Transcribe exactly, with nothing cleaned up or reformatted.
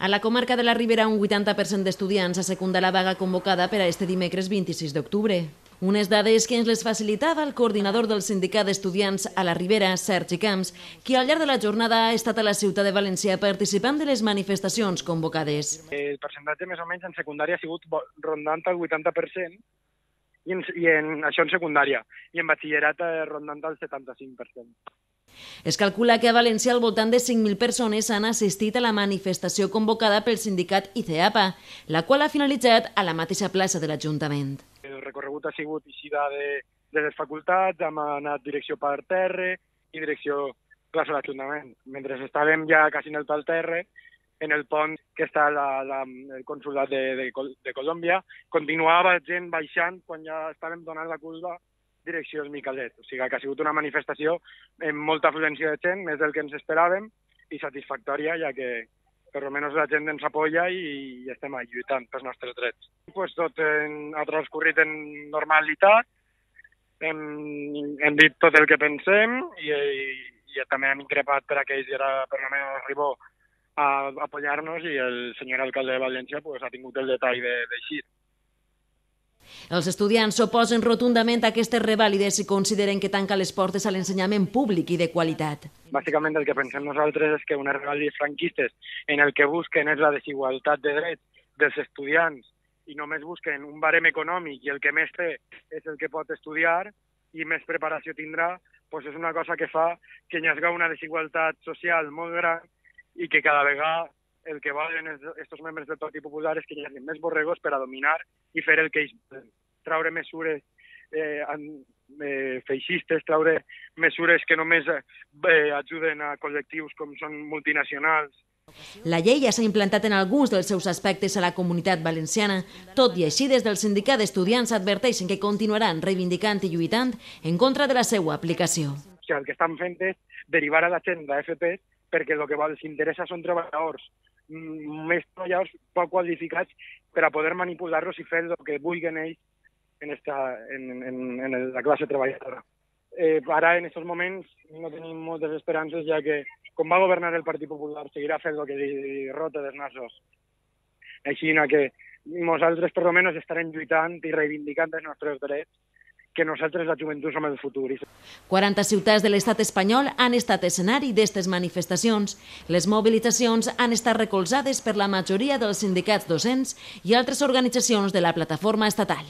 A la comarca de la Ribera, un vuitanta per cent d'estudiants ha secundat la vaga convocada per a este dimecres vint-i-sis d'octubre. Unes dades que ens les facilitava el coordinador del sindicat d'estudiants a la Ribera, Sergi Camps, qui al llarg de la jornada ha estat a la ciutat de València participant de les manifestacions convocades. El percentatge més o menys en secundària ha sigut rondant el vuitanta per cent i en, i en això en secundària, i en batxillerat rondant el setanta-cinc per cent. Es calcula que a València al voltant de cinc mil persones han assistit a la manifestació convocada pel sindicat I C E A P A, la qual ha finalitzat a la mateixa plaça de l'Ajuntament. El recorregut ha sigut eixida de, de les facultats, hem anat direcció Parterre i direcció plaça de l'Ajuntament. Mentre estàvem ja quasi en el Parterre, en el pont que està la, la, el consulat de, de, de Colòmbia, continuava gent baixant quan ja estàvem donant la curva direcció al Micalet. O sigui que ha sigut una manifestació amb molta afluència de gent, més del que ens esperàvem, i satisfactòria, ja que per almenys la gent ens apoya i, i estem lluitant pels nostres drets. Pues tot en, ha transcorrit en normalitat, hem, hem dit tot el que pensem i, i, i també hem increpat per aquells i ara per almenys Ribó a apoyar-nos i el senyor alcalde de València pues, ha tingut el detall d'eixir. Els estudiants s'oposen rotundament a aquestes revàlides i consideren que tanca les portes a l'ensenyament públic i de qualitat. Bàsicament el que pensem nosaltres és que unes revàlides franquistes en el que busquen és la desigualtat de drets dels estudiants i només busquen un barem econòmic i el que més té és el que pot estudiar i més preparació tindrà, doncs és una cosa que fa que hi hagi una desigualtat social molt gran i que cada vegada el que volen aquests membres del Partit Popular és que hi hagi més borregos per a dominar i fer el que ells volen. Traure mesures eh, eh, feixistes, traure mesures que només eh, ajuden a col·lectius com són multinacionals. La llei ja s'ha implantat en alguns dels seus aspectes a la comunitat valenciana. Tot i així, des del sindicat d'estudiants adverteixen que continuaran reivindicant i lluitant en contra de la seva aplicació. O sigui, el que estan fent és derivar a la gent d'F P perquè el que els interessa són treballadors, més treballadors poc qualificats per a poder manipular-los i fer el que vulguin ells en, esta, en, en, en la classe treballadora. Eh, ara, en aquests moments, no tenim moltes esperances, ja que, com va governar el Partit Popular, seguirà fent el que li rota dels nassos. Així que nosaltres, per almenys, estarem lluitant i reivindicant els nostres drets, que nosaltres, la joventut, som el futur. quaranta ciutats de l'estat espanyol han estat escenari d'aquestes manifestacions. Les mobilitzacions han estat recolzades per la majoria dels sindicats docents i altres organitzacions de la plataforma estatal.